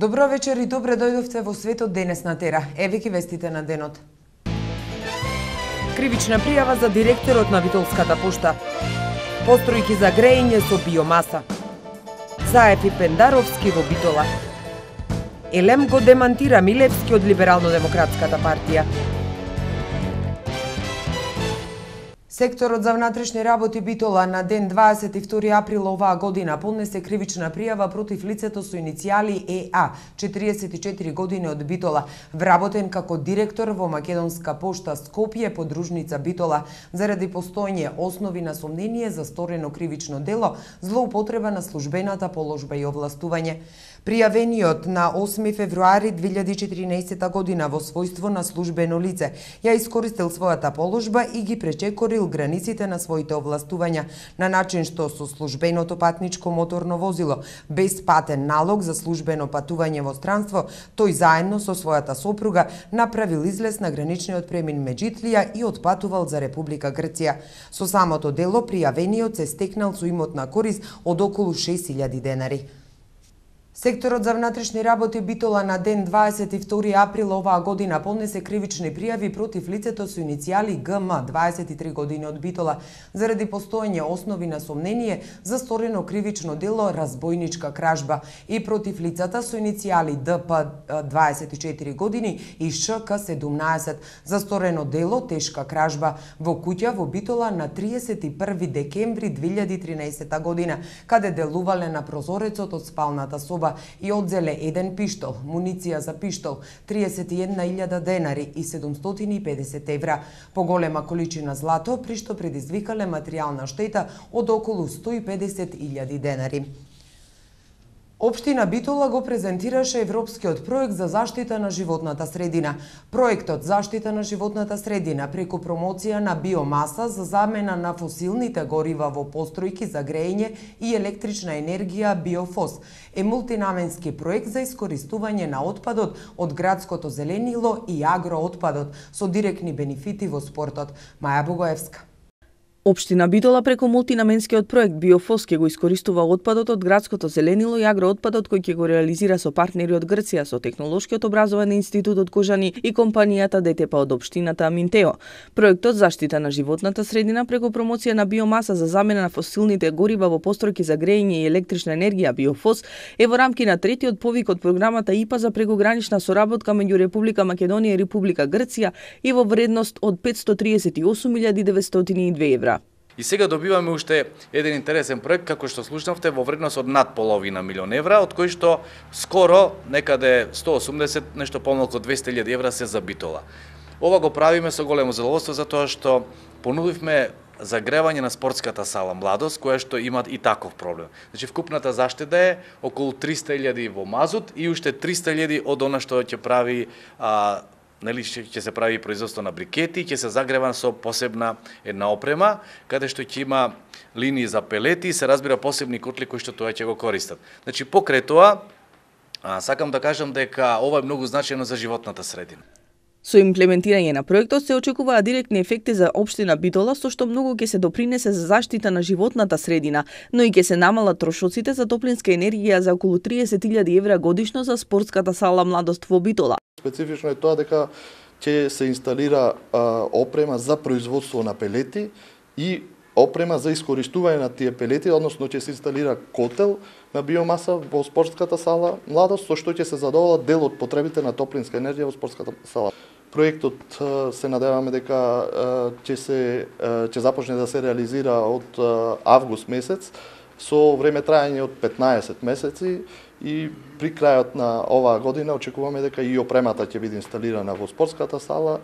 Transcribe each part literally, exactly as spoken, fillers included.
Добро вечер и добре дојдовте во светот денес на Тера. Еве ги вестите на денот. Кривична пријава за директорот на Битолската пошта. Постројки за грејење со биомаса. Заев и Пендаровски во Битола. Елем го демантира Милевски од Либерално-демократската партија. Секторот за внатрешни работи Битола на ден дваесет и втори април оваа година поднесе кривична пријава против лицето со иницијали Е А, четириесет и четири години од Битола, вработен како директор во Македонска пошта Скопје, подружница Битола, заради постоење основи на сомнение за сторено кривично дело, злоупотреба на службената положба и овластување. Пријавениот на осми февруари две илјади и четиринаесета година во својство на службено лице ја искористил својата положба и ги пречекорил границите на своите овластувања на начин што со службеното патничко моторно возило без патен налог за службено патување во странство, тој заедно со својата сопруга направил излез на граничниот премин Меджитлија и отпатувал за Република Грција. Со самото дело пријавениот се стекнал со имотна корист од околу шест илјади денари. Секторот за внатрешни работи Битола на ден дваесет и втори април оваа година поднесе кривични пријави против лицето со иницијали Г М, дваесет и три години од Битола, заради постоење основи на сомнение за сторено кривично дело разбојничка кражба и против лицата со иницијали Д П, дваесет и четири години и Ш К, седумнаесет, за сторено дело тешка кражба во куќа во Битола на триесет и први декември две илјади и тринаесета година, каде делувале на прозорецот од спалната соба и одзеле еден пиштол, муниција за пиштол, триесет и една илјада денари и седумстотини и педесет евра, поголема количина злато, при што предизвикале материјална штета од околу сто и педесет илјади денари. Општина Битола го презентираше Европскиот проект за заштита на животната средина. Проектот Заштита на животната средина преку промоција на биомаса за замена на фосилните горива во постројки за грејење и електрична енергија Биофос е мултинаменски проект за искористување на отпадот од градското зеленило и агроотпадот со директни бенефити во спортот. Маја Богоевска. Општина Битола преку мултинаменскиот проект Биофос ќе го искористува отпадот од градското зеленило и агроотпадот кој ќе го реализира со партнери од Грција, со Технолошкиот образовен институт од Кожани и компанијата Д Т П од општината Аминтео. Проектот Заштита на животната средина преку промоција на биомаса за замена на фосилните горива во постројки за грејење и електрична енергија Биофос е во рамки на третиот повик од програмата И П А за прекугранична соработка меѓу Република Македонија и Република Грција и во вредност од петстотини триесет и осум илјади деветстотини и две евра. И сега добиваме уште еден интересен проект, како што слушнавте, во вредност од над половина милион евра, од кој што скоро некаде сто и осумдесет, нешто помалку од двесте илјади евра се за Битола. Ова го правиме со големо задоволство затоа што понудивме загревање на спортската сала Младост, која што има и таков проблем. Значи вкупната заштеда е околу триста илјади во мазут и уште триста илјади од она што ќе прави а, нели ќе се прави производство на брикети, ќе се загрева со посебна една опрема, каде што ќе има линии за пелети и се разбира посебни котли кои што тоа ќе го користат. Значи покрај тоа, а, сакам да кажам дека ова е многу значајно за животната средина. Со имплементирање на проектот се очекуваат директни ефекти за општина Битола, со што многу ќе се допринесе за заштита на животната средина, но и ќе се намалат трошоците за топлинска енергија за околу триесет илјади евра годишно за спортската сала Младост во Битола. Специфично е тоа дека ќе се инсталира а, опрема за производство на пелети и опрема за искористување на тие пелети, односно ќе се инсталира котел на биомаса во спортската сала Младост, со што ќе се задоволат дел од потребите на топлинска енергија во спортската сала. Проектот се надеваме дека ќе се ќе започне да се реализира од август месец со време трајање од петнаесет месеци и при крајот на оваа година очекуваме дека и опремата ќе биде инсталирана во спортската сала,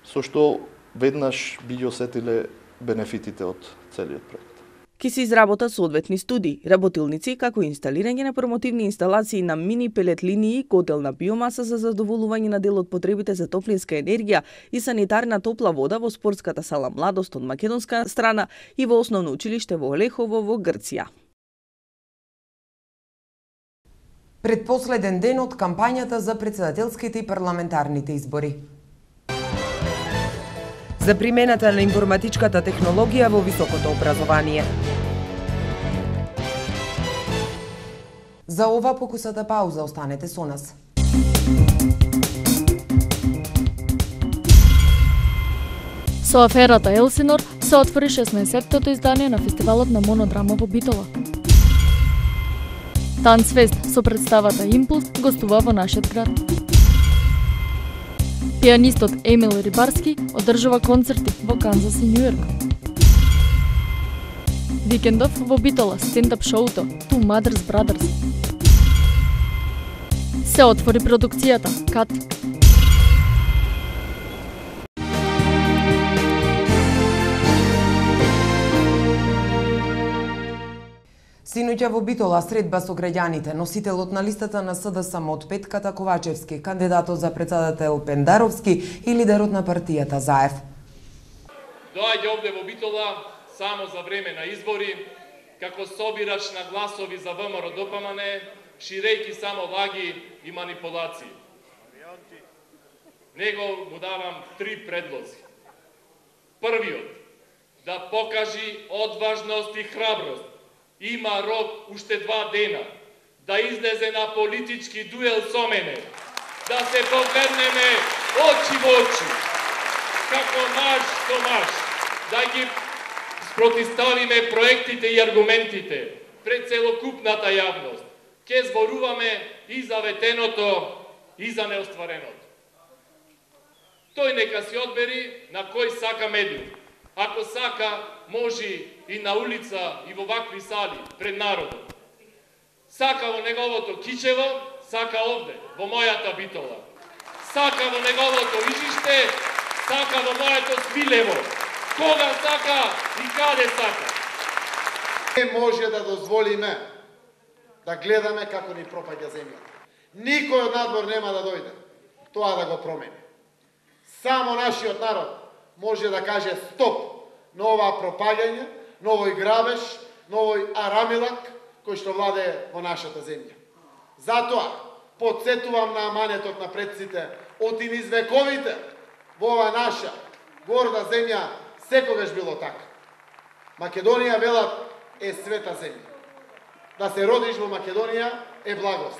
со што веднаш би ги осетиле бенефитите од целиот проект. Ке се изработат соодветни студии, работилници, како инсталирање на промотивни инсталации на мини пелет линии, котел на биомаса за задоволување на дел од потребите за топлинска енергија и санитарна топла вода во спортската сала Младост од македонска страна и во основно училиште во Олехово во Грција. Предпоследен ден од кампањата за претседателските и парламентарните избори. За примената на информатичката технологија во високото образование. За ова покусата пауза, останете со нас. Со аферата Елсинор се отвори шеснаесеттото издание на фестивалот на монодрама во Битола. Танцфест со представата Импулс гостува во нашиот град. Пианистот Емил Рибарски одржува концерти во Канзас и Њујорк. Викендов во Битола стендап шоуто Two Mothers Brothers. Се отвори продукцијата Кат. Синоќа во Битола средба со граѓаните, носителот на листата на СДСМ од Петката Ковачевски, кандидатот за председател Пендаровски и лидерот на партијата Заев. Доаѓа овде во Битола само за време на избори, како собирач на гласови за ВМРО ДПМН, ширејќи само лаги и манипулации. Него му давам три предлози. Првиот, да покажи одважност и храброст. Има рок уште два дена да излезе на политички дуел со мене, да се погледнеме очи во очи, како маж со маж, да ги спротиставиме проектите и аргументите пред целокупната јавност. Ке зборуваме и за ветеното, и за неоствареното. Тој нека си одбери на кој сака медиум. Ако сака, може и на улица, и во вакви сали, пред народот. Сака во неговото Кичево, сака овде, во мојата Битола. Сака во неговото Ижиште, сака во моето Свилево. Кога сака и каде сака. Не може да дозволиме да гледаме како ни пропаѓа земјата. Никој од надвор нема да дојде тоа да го промени. Само нашиот народ може да каже стоп на оваа пропаѓање, на овој грабеж, на овој арамилак кој што владее во нашата земја. Затоа потсетувам на аманетот на предците од низ вековите во ова наша горда земја секогаш било така. Македонија, велат, е света земја. Да се родиш во Македонија е благост.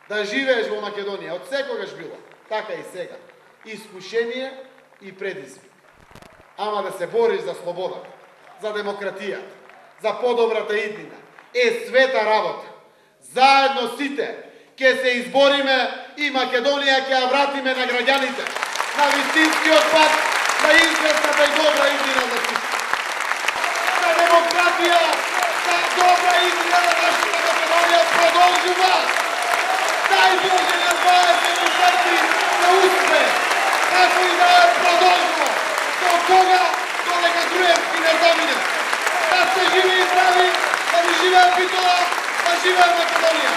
Да живееш во Македонија од секогаш било, така и сега. Искушение и предизвик. Ама да се бориш за слободата, за демократијата, за подобрата иднина, е света работа. Заедно сите ќе се избориме и Македонија ќе ја вратиме на граѓаните, на вистинскиот пат, на известната и добра иднина за сите. За демократија, за добра иднина на нашата Македонија продолжува. Дај Боже на дваесет четири да успе, како и да ја продолжува. До кога, додека Груевски не замине. Да се живи и здрави, да ни живее Битола, да живее Македонија.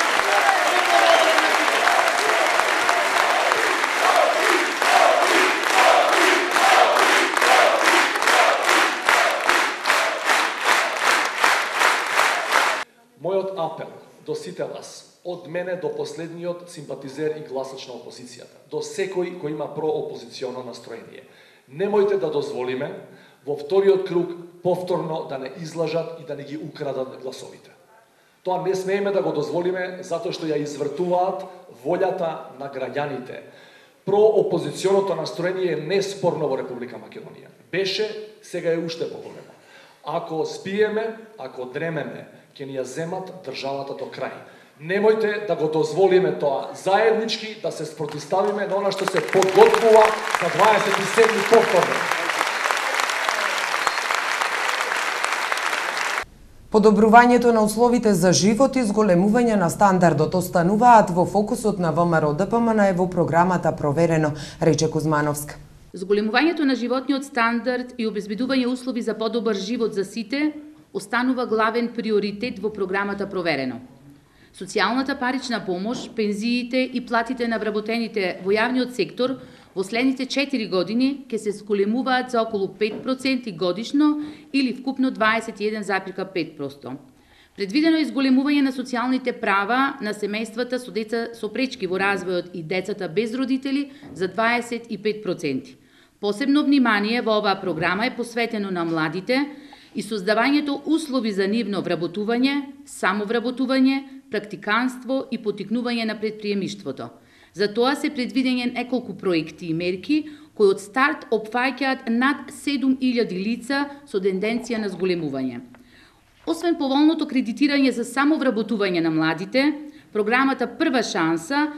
Мојот апел до сите вас, од мене до последниот симпатизер и гласач на опозицијата, до секој кој има проопозиционо настроение. Немојте да дозволиме во вториот круг повторно да не излажат и да не ги украдат гласовите. Тоа не смееме да го дозволиме затоа што ја извртуваат волјата на граѓаните. Проопозиционото настроение е неспорно во Република Македонија. Беше, сега е уште поголемо. Ако спиеме, ако дремеме, ќе ни ја земат државата до крај. Немојте да го дозволиме тоа заеднички да се спротиставиме на она што се подготвува за дваесет и седми повторно. Подобрувањето на условите за живот и зголемување на стандардот остануваат во фокусот на ВМРО ДПМН во програмата Проверено, рече Кузмановска. Зголемувањето на животниот стандард и обезбедување услови за подобар живот за сите останува главен приоритет во програмата Проверено. Социјалната парична помош, пензиите и платите на вработените во јавниот сектор во следните четири години ќе се зголемуваат за околу пет проценти годишно или вкупно дваесет и еден запирка пет проценти. Предвидено е зголемување на социјалните права на семејствата со деца со пречки во развојот и децата без родители за дваесет и пет проценти. Посебно внимание во оваа програма е посветено на младите и создавањето услови за нивно вработување, самовработување, практиканство и потикнување на предприемиштвото. За тоа се предвидени неколку проекти и мерки кои од старт опфаќаат над седум илјади лица со тенденција на зголемување. Освен поволното кредитирање за самовработување на младите, програмата Прва шанса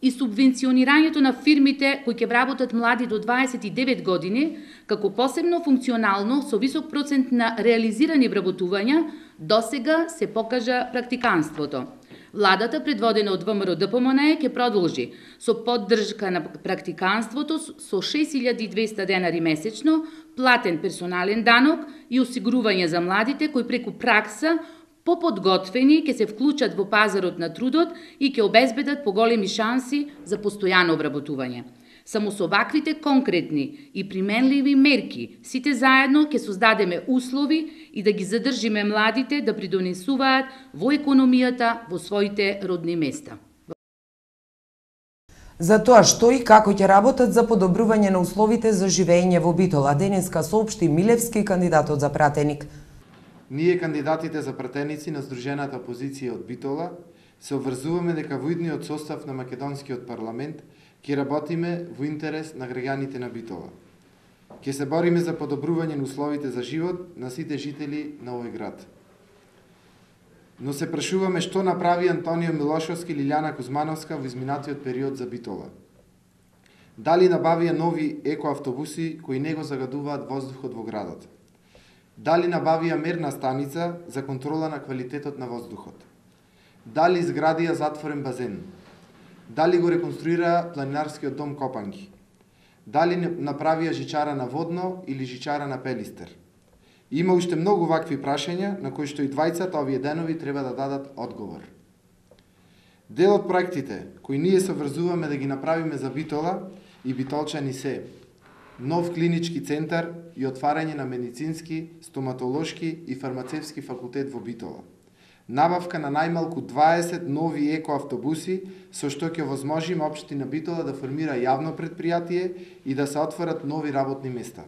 и субвенционирањето на фирмите кои ќе вработат млади до дваесет и девет години, како посебно функционално со висок процент на реализирани вработувања, досега се покажа практиканството. Владата, предводена од ВМРО-ДПМН, ќе продолжи со поддршка на практиканството со шест илјади и двесте денари месечно, платен персонален данок и осигурување за младите кои преку пракса поподготвени ќе се вклучат во пазарот на трудот и ќе обезбедат поголеми шанси за постојано вработување. Само со ваквите конкретни и применливи мерки, сите заедно ќе создадеме услови и да ги задржиме младите да придонесуваат во економијата во своите родни места. За тоа што и како ќе работат за подобрување на условите за живење во Битола, денеска соопшти Милевски, кандидатот за пратеник. Ние, кандидатите за пратеници на Сдружената опозиција од Битола, се обврзуваме дека во идниот состав на македонскиот парламент ќе работиме во интерес на граѓаните на Битола. Ќе се бориме за подобрување на условите за живот на сите жители на овој град. Но се прашуваме што направи Антонио Милошовски или Лиљана Кузмановска во изминатиот период за Битола. Дали набавија нови екоавтобуси кои не го загадуваат воздухот во градот? Дали набавија мерна станица за контрола на квалитетот на воздухот? Дали изградија затворен базен? Дали го реконструира планинарскиот дом Копанги? Дали направија жичара на Водно или жичара на Пелистер? Има уште многу вакви прашања на кои што и двајцата овие денови треба да дадат одговор. Дел од проектите кои ние се врзуваме да ги направиме за Битола и битолчани се нов клинички центар и отварање на медицински, стоматолошки и фармацевски факултет во Битола. Набавка на најмалку дваесет нови екоавтобуси, со што ќе возможиме општина Битола да формира јавно предпријатие и да се отворат нови работни места.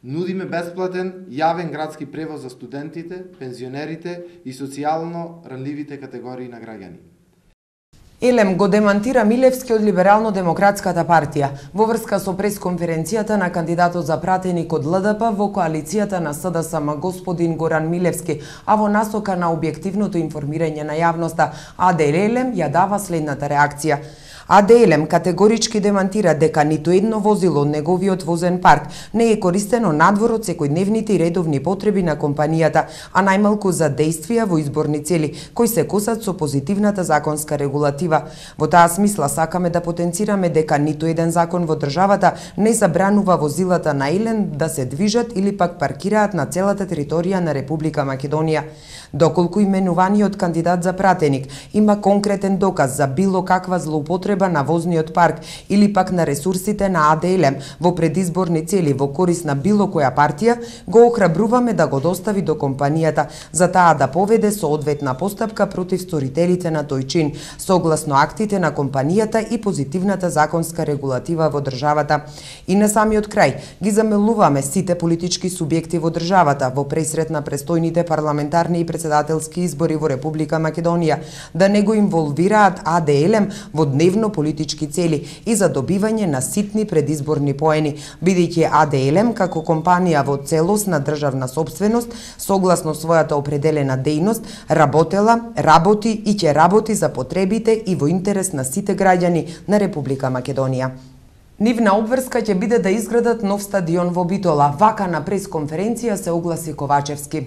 Нудиме бесплатен јавен градски превоз за студентите, пензионерите и социјално ранливите категории на граѓани. Елем го демантира Милевски од Либерално-демократската партија во врска со пресконференцијата на кандидатот за пратеник од ЛДП во коалицијата на СДСМ господин Горан Милевски, а во насока на објективното информирање на јавноста, АД Елем ја дава следната реакција. АД Елем категорички демантира дека ниту едно возило од неговиот возен парк не е користено надвор од секојдневните и редовни потреби на компанијата, а најмалку за действија во изборни цели, кои се косат со позитивната законска регулатива. Во таа смисла сакаме да потенцираме дека ниту еден закон во државата не забранува возилата на Елем да се движат или пак паркираат на целата територија на Република Македонија. Доколку именуваниот кандидат за пратеник има конкретен доказ за било каква злоупотреба на возниот парк или пак на ресурсите на АД Елем во предизборни цели во корист на било која партија, го охрабруваме да го достави до компанијата за таа да поведе соодветна постапка против сторителите на тој чин, согласно актите на компанијата и позитивната законска регулатива во државата. И на самиот крај ги замелуваме сите политички субјекти во државата во пресрет на престојните парламентарни и председателски избори во Република Македонија да не го инволвираат АД Елем во дневно политички цели и за добивање на ситни предизборни поени, бидејќи АД Елем како компанија во целосна државна сопственост, согласно својата определена дејност, работела, работи и ќе работи за потребите и во интерес на сите граѓани на Република Македонија. Нивна обврска ќе биде да изградат нов стадион во Битола. Вака на пресконференција се огласи Ковачевски.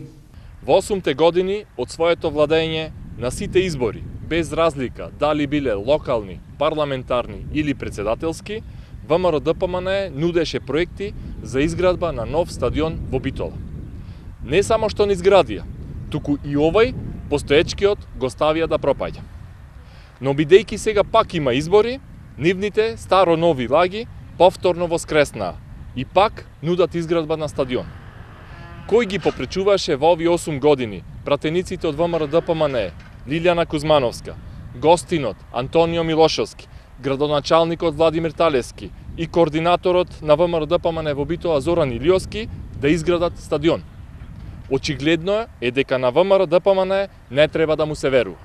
Во осумте години од своето владење на сите избори, без разлика дали биле локални, парламентарни или председателски, ВМРО-ДПМН нудеше проекти за изградба на нов стадион во Битола. Не само што не изградија, туку и овој постоечкиот го ставија да пропаѓа. Но бидејќи сега пак има избори, нивните старо-нови лаги повторно воскреснаа и пак нудат изградба на стадион. Кој ги попречуваше во овие осум години пратениците од ВМРО-ДПМН, Лиљана Кузмановска, гостинот Антонио Милошовски, градоначалникот Владимир Талески и координаторот на ВМРО-ДПМН во Битола Зоран Илиовски да изградат стадион. Очигледно е дека на ВМРО-ДПМН не треба да му се верува.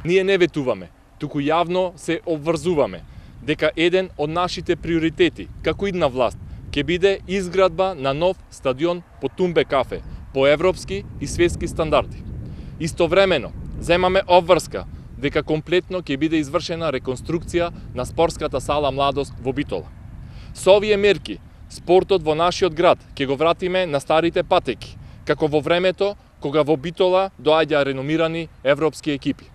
Ние не ветуваме, туку јавно се обврзуваме дека еден од нашите приоритети, како идна власт, ќе биде изградба на нов стадион по Тумбе кафе, по европски и светски стандарди. Истовремено, земаме обврска дека комплетно ќе биде извршена реконструкција на спортската сала Младост во Битола. Со овие мерки, спортот во нашиот град ќе го вратиме на старите патеки, како во времето кога во Битола доаѓа реномирани европски екипи.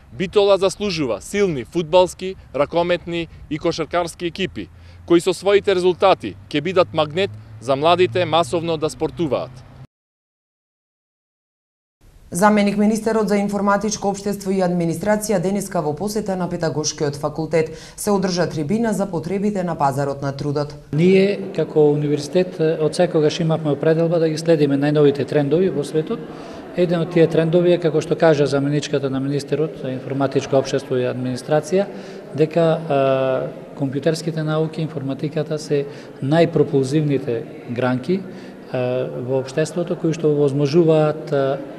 Битола заслужува силни фудбалски, ракометни и кошаркарски екипи, кои со своите резултати ќе бидат магнет за младите масовно да спортуваат. Заменик министерот за информатичко општество и администрација денеска во посета на Педагошкиот факултет се одржа трибина за потребите на пазарот на трудот. Ние како универзитет од секогаш имавме определба да ги следиме најновите трендови во светот. Еден од тие трендови е, како што кажа заменичката на министерот за информатичко општество и администрација, дека а, компјутерските науки, информатиката се најпропулзивните гранки во општеството, кои што возможуваат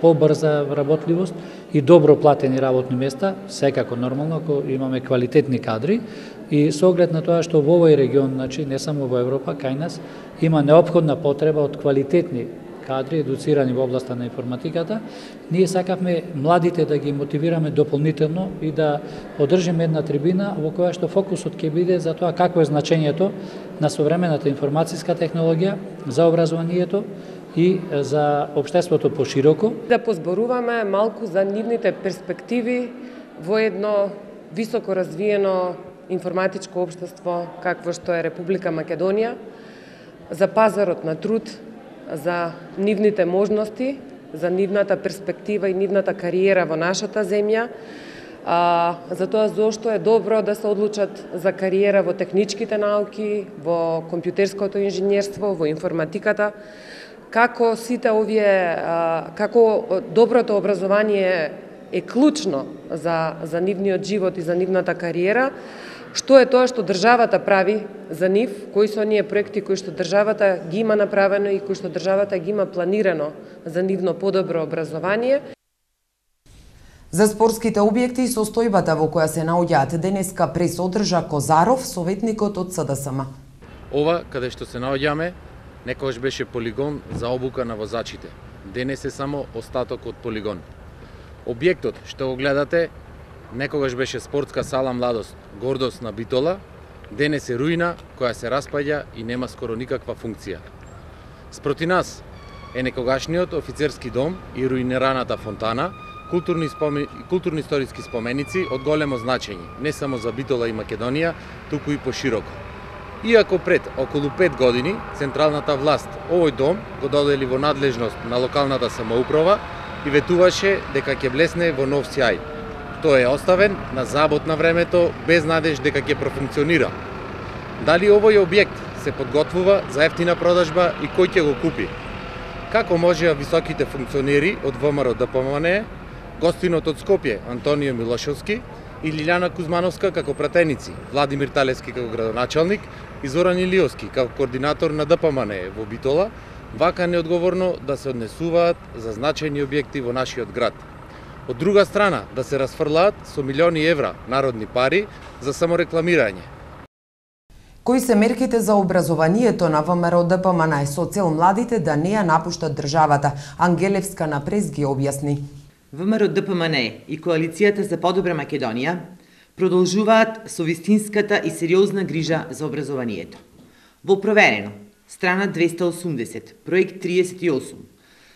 побрза работливост и добро платени работни места, секако нормално ако имаме квалитетни кадри, и со оглед на тоа што во овој регион, значи не само во Европа, кај нас има неопходна потреба од квалитетни кадри, едуцирани во областа на информатиката, ние сакавме младите да ги мотивираме дополнително и да одржиме една трибина во која што фокусот ќе биде за тоа какво е значењето на современата информацијска технологија за образованието и за општеството пошироко. Да позборуваме малку за нивните перспективи во едно високо развиено информатичко општество какво што е Република Македонија, за пазарот на труд, за нивните можности, за нивната перспектива и нивната кариера во нашата земја, а, за тоа зошто е добро да се одлучат за кариера во техничките науки, во компјутерското инженерство, во информатиката, како сите овие, а, како доброто образование е клучно за, за нивниот живот и за нивната кариера, што е тоа што државата прави за нив, кои се оние проекти кои што државата ги има направено и кои што државата ги има планирано за нивно подобро образование. За спортските објекти и состојбата во која се наоѓаат денеска прес одржа Козаров, советникот од С Д С М. Ова, каде што се наоѓаме, некогаш беше полигон за обука на возачите. Денес е само остаток од полигон. Објектот што го гледате некогаш беше спортска сала Младост, гордост на Битола, денес е руина која се распаѓа и нема скоро никаква функција. Спроти нас е некогашниот офицерски дом и руинираната фонтана, културни, спомен... културни историски споменици од големо значење, не само за Битола и Македонија, туку и пошироко. Иако пред околу пет години централната власт овој дом го додели во надлежност на локалната самоуправа и ветуваше дека ќе блесне во нов сјај. Тој е оставен на забот на времето без надеж дека ќе профункционира. Дали овој објект се подготвува за ефтина продажба и кој ќе го купи? Како можеа високите функционери од В М Р Д П М Н Е, гостинот од Скопје Антонио Милошевски и Лилјана Кузмановска како пратеници, Владимир Талевски како градоначалник и Зоран Илиовски како координатор на Д П М Н Е во Битола, вака неодговорно да се однесуваат за значајни објекти во нашиот град. Од друга страна, да се расфрлаат со милиони евра народни пари за саморекламирање. Кои се мерките за образованието на В М Р Д П М Н Е со цел младите да не ја напуштат државата? Ангелевска на прес ги објасни. В М Р Д П М Н Е и Коалицијата за подобра Македонија продолжуваат со вистинската и сериозна грижа за образованието. Во проверено, страна двеста осумдесет, проект триесет и осум,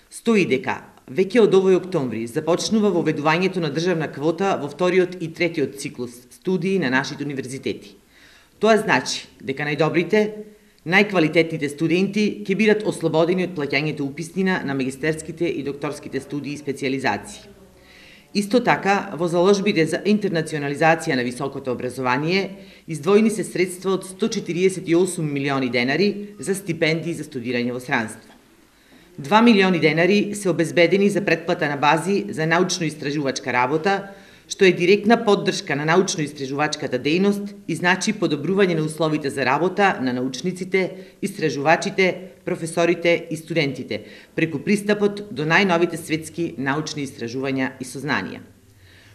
стои дека веќе од овој октомври започнува воведувањето на државна квота во вториот и третиот циклус студии на нашите универзитети. Тоа значи дека најдобрите, најквалитетните студенти ќе бидат ослободени од плаќањето уписнина на магистерските и докторските студии и специјализации. Исто така, во заложбите за интернационализација на високото образование, издвоени се средства од сто четириесет и осум милиони денари за стипендии за студирање во странство. два милиони денари се обезбедени за претплата на бази за научно-истражувачка работа, што е директна поддршка на научно-истражувачката дејност и значи подобрување на условите за работа на научниците, истражувачите, професорите и студентите, преку пристапот до најновите светски научни истражувања и сознанија.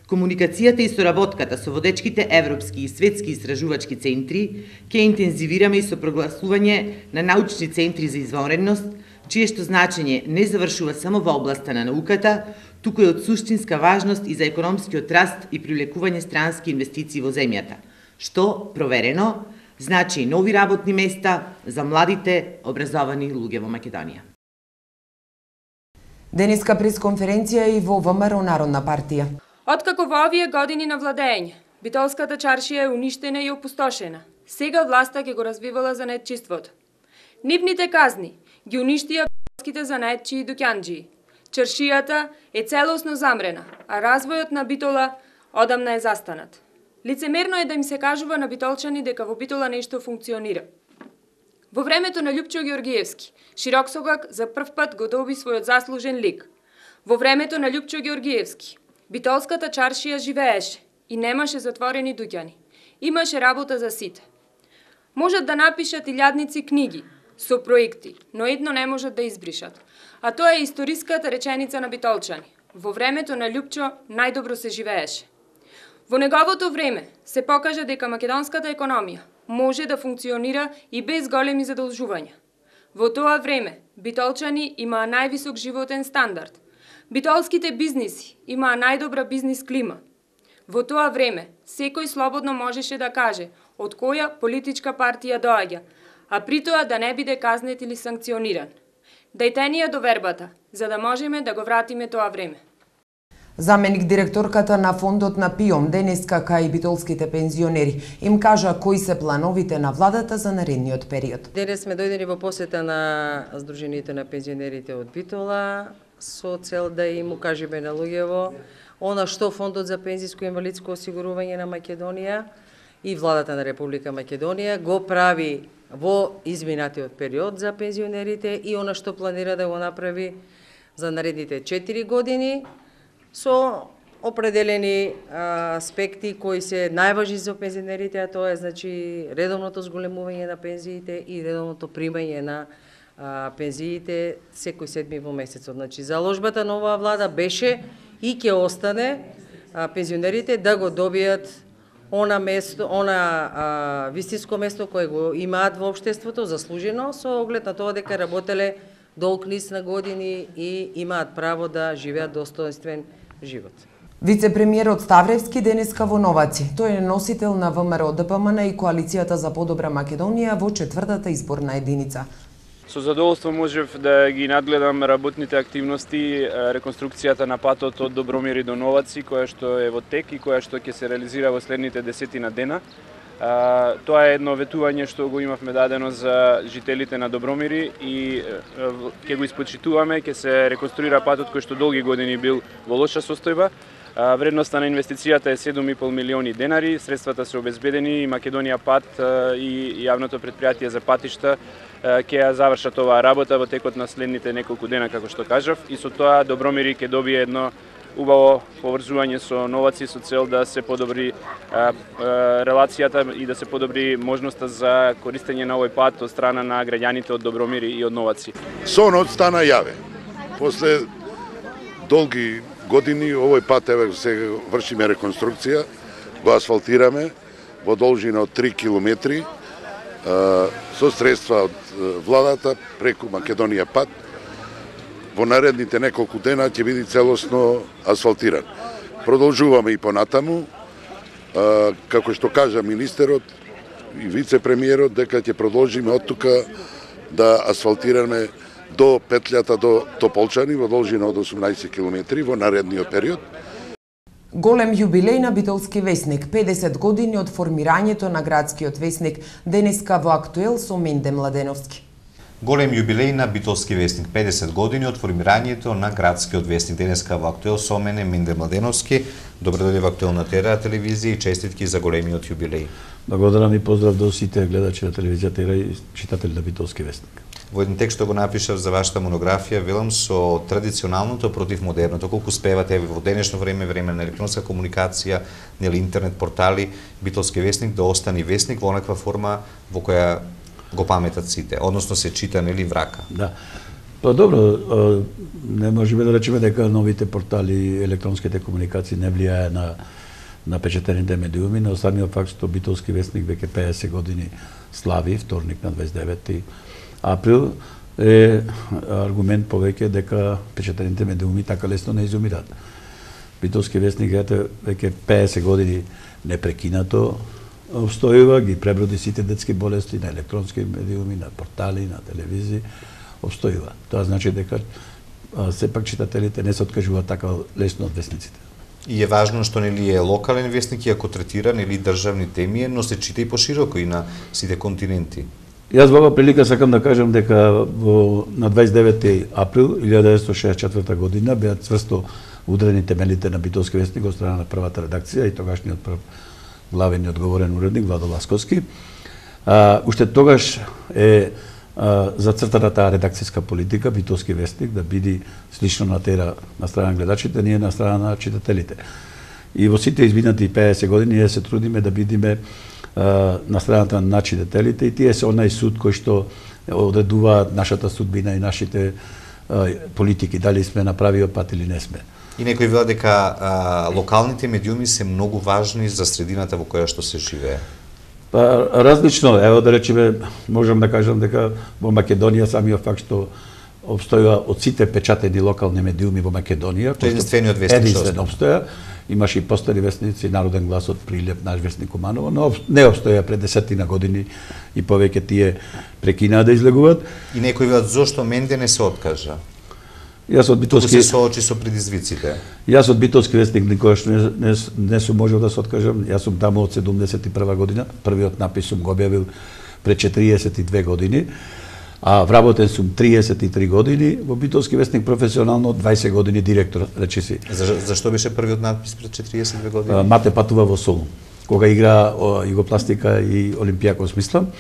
Комуникацијата и соработката со водечките европски и светски истражувачки центри ќе интензивираме и со прогласување на научни центри за извонредност, чиешто значење не завршува само во областа на науката, туку е од суштинска важност и за економскиот раст и привлекување странски инвестиции во земјата, што, проверено, значи и нови работни места за младите образовани луѓе во Македонија. Денеска пресконференција и во ВМРО Народна партија. Откако во овие години на владење, Битолската чаршија е уништена и опустошена, сега власта ќе го развивала занаетчиството. Нивните казни ги уништија битолските занаетчи и дуќанџии. Чаршијата е целосно замрена, а развојот на Битола одамна е застанат. Лицемерно е да им се кажува на битолчани дека во Битола нешто функционира. Во времето на Љупчо Георгиевски, Широксогак за прв пат го доби својот заслужен лик. Во времето на Љупчо Георгиевски, Битолската чаршија живееше и немаше затворени дуќани. Имаше работа за сите. Можат да напишат илјадници книги со проекти, но едно не можат да избришат. А тоа е историската реченица на битолчани. Во времето на Љупчо најдобро се живееше. Во неговото време се покажа дека македонската економија може да функционира и без големи задолжувања. Во тоа време битолчани имаа највисок животен стандард. Битолските бизниси имаа најдобра бизнис клима. Во тоа време секој слободно можеше да каже од која политичка партија доаѓа, а при тоа да не биде казнет или санкциониран. Дајте ни ја довербата, за да можеме да го вратиме тоа време. Заменик директорката на фондот на ПИОМ денеска кај битолските пензионери им кажа кои се плановите на владата за наредниот период. Денес сме дојдени во посета на Сдруженијето на пензионерите од Битола со цел да им укажеме на луѓево она што Фондот за пензиско и инвалидско осигурување на Македонија и владата на Република Македонија го прави во изминатиот период за пензионерите и она што планира да го направи за наредните четири години со определени а, аспекти кои се најважни за пензионерите, а тоа е значи редовното зголемување на пензиите и редовното примање на а, пензиите секој седми во месецот. Значи заложбата на оваа влада беше и ќе остане а, пензионерите да го добијат она место, она а, вистинско место кое го имаат во општеството заслужено со оглед на тоа дека работеле долг низ на години и имаат право да живеат достоинствен живот. Вице-премиерот Ставревски денеска во Новаци. Тој е носител на ВМРО ДПМН и Коалицијата за подобра Македонија во четвртата изборна единица. Со задоволство можев да ги надгледам работните активности, реконструкцијата на патот од Добромири до Новаци, која што е во тек и која што ќе се реализира во следните десетина дена. А, тоа е едно ветување што го имавме дадено за жителите на Добромири и ќе го испочитуваме, ќе се реконструира патот кој што долги години бил во лоша состојба. А, вредноста на инвестицијата е седум и пол милиони денари, средствата се обезбедени и Македонија пат а, и јавното предпријатие за патишта а, ќе ја завршат оваа работа во текот на следните неколку дена, како што кажав, и со тоа Добромири ќе добие едно убаво поврзување со Новаци со цел да се подобри а, а, релацијата и да се подобри можноста за користење на овој пат од страна на граѓаните од Добромири и од Новаци. Сонот стана јаве. После долги години овој пат еве се вршиме реконструкција, го асфалтираме во должина од три километри а, со средства од владата преку Македонија пат. Во наредните неколку дена ќе биде целосно асфалтиран. Продолжуваме и понатаму, а, како што кажа министерот и вице-премиерот, дека ќе продолжиме од тука да асфалтираме до петлјата до Тополчани во должина од осумнаесет километри во наредниот период. Голем јубилеј на Битолски весник, педесет години од формирањето на градскиот весник, денеска во Актуел со Менде Младеновски. Голем јубилеј на Битолски весник, педесет години од формирањето на градскиот весник. Денеска во Актуел со мене Менде Младеновски. Добро дојде во Актуел на Тера телевизија и честитки за големиот јубилеј. Благодарам и поздрав до сите гледачи на телевизија Тера и читатели на Битолски весник. Во еден текст што го напишав за вашата монографија, велам со традиционалното против модерното, колку успевате во денешно време, време на електронска комуникација, нели интернет портали, Битолски весник да остане весник во онаква форма во која го паметат сите, односно се чита нели врака. Да. Па добро, не можеме да речеме дека новите портали, електронските комуникации не влијае на на печатените медиуми, но самиот факт што Битолски весник веќе педесет години слави, вторник на дваесет и деветти април, е аргумент повеќе дека печатените медиуми така лесно не изумираат. Битолски весник ете веќе педесет години непрекинато обстојува, ги преброди сите детски болести на електронски медиуми, на портали, на телевизии, обстојува. Тоа значи дека сепак читателите не се откажуваат така лесно од весниците. И е важно што нели е локален весник, иако третира нели државни теми, но се чита и пошироко и на сите континенти. Јас во оваа прилика сакам да кажам дека во на дваесет и деветти април илјада деветстотини шеесет и четврта година беа цврсто удрени темелите на Битолски весник од страна на првата редакција и тогашниот прв главен и одговорен уредник Владо Ласковски. А, уште тогаш е а, зацртана таа редакцијска политика Битолски весник да биде слично на тера на страна на гледачите, ние на страна на читателите. И во сите изминати педесет години ние се трудиме да бидеме на страната на читателите и тие се онај суд кој што одредуваат нашата судбина и нашите а, политики, дали сме на правиот пат или не сме. И некој вела дека а, локалните медиуми се многу важни за средината во која што се живее. Па различно, ево да речеме, можам да кажам дека во Македонија самиот факт што обстојува од сите печатени локални медиуми во Македонија, единствениот весник единствен обстоја, имаше и постари весници, Народен глас од Прилеп, наш весник Куманово, но не обстоја пред десетина години и повеќе тие прекинаа да излегуваат. И некој велат зошто Менде не се откажа? Јас од Битолски се соочи со предизвиците. Јас од Битолски весник никогаш не, не, не сум можел да се откажам. Јас сум таму од седумдесет и прва година, првиот напис сум го објавил пред четириесет и две години, а вработен сум триесет и три години, во Битолски весник професионално дваесет години директор, речиси. За, зашто беше првиот надпис пред четириесет и две години? Мате патува во Солун, кога игра Југопластика и Олимпијакос, мислам.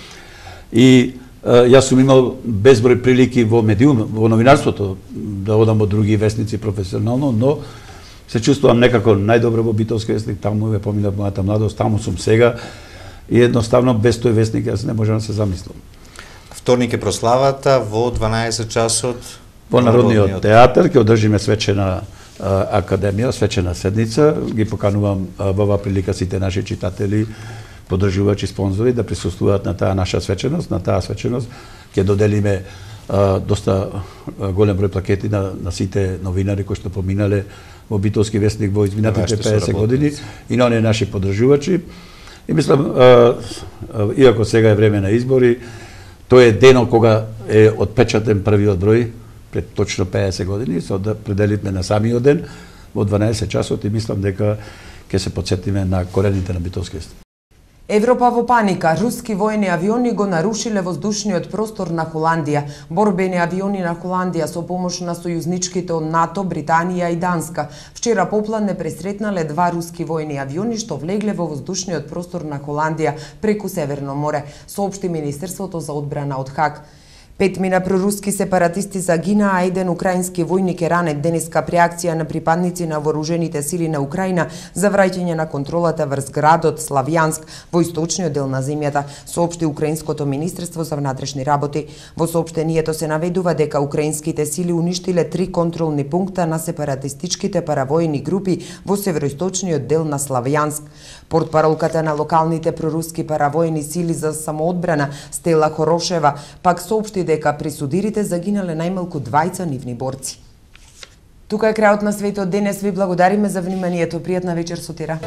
И јас сум имал безброј прилики во медиум, во новинарството, да одам од други весници професионално, но се чувствувам некако најдобро во Битолски весник, таму е поминав мојата младост, таму сум сега и едноставно без тој весник јас не можам да се замислам. Вторник е прославата во дванаесет часот во Народниот театар ќе одржиме свечена а, академија, свечена седница, ги поканувам а, во оваа прилика сите наши читатели, поддржувачи, спонзори да присуствуваат на таа наша свеченост, на таа свеченост ќе доделиме а, доста а, голем број плакети на, на сите новинари кои што поминале во Битолски весник во изминатите педесет години и на оние наши поддржувачи. И мислам, а, а, иако сега е време на избори, тој е денот кога е отпечатен првиот број пред точно педесет години, се определивме на самиот ден во дванаесет часот и мислам дека ќе се потсетиме на корените на Битолски весник. Европа во паника. Руски воени авиони го нарушиле воздушниот простор на Холандија. Борбени авиони на Холандија со помош на сојузничките од НАТО, Британија и Данска вчера попладне пресретнале два руски воени авиони што влегле во воздушниот простор на Холандија преку Северно море, соопшти Министерството за одбрана од Хаг. Петмина проруски сепаратисти загинаа, а еден украински војник е ранет денеска при акција на припадници на вооружените сили на Украина за враќање на контролата врз градот Славјанск во источниот дел на земјата, соопшти Украинското министерство за внатрешни работи. Во соопштението се наведува дека украинските сили уништиле три контролни пункта на сепаратистичките паравојни групи во североисточниот дел на Славјанск. Портпаролката на локалните проруски паравојни сили за самоодбрана Стела Хорошева пак соопшти дека при судирите загинале најмалку двајца нивни борци. Тука е крајот на светот денес. Ви благодариме за вниманието. Пријатна вечер со тера.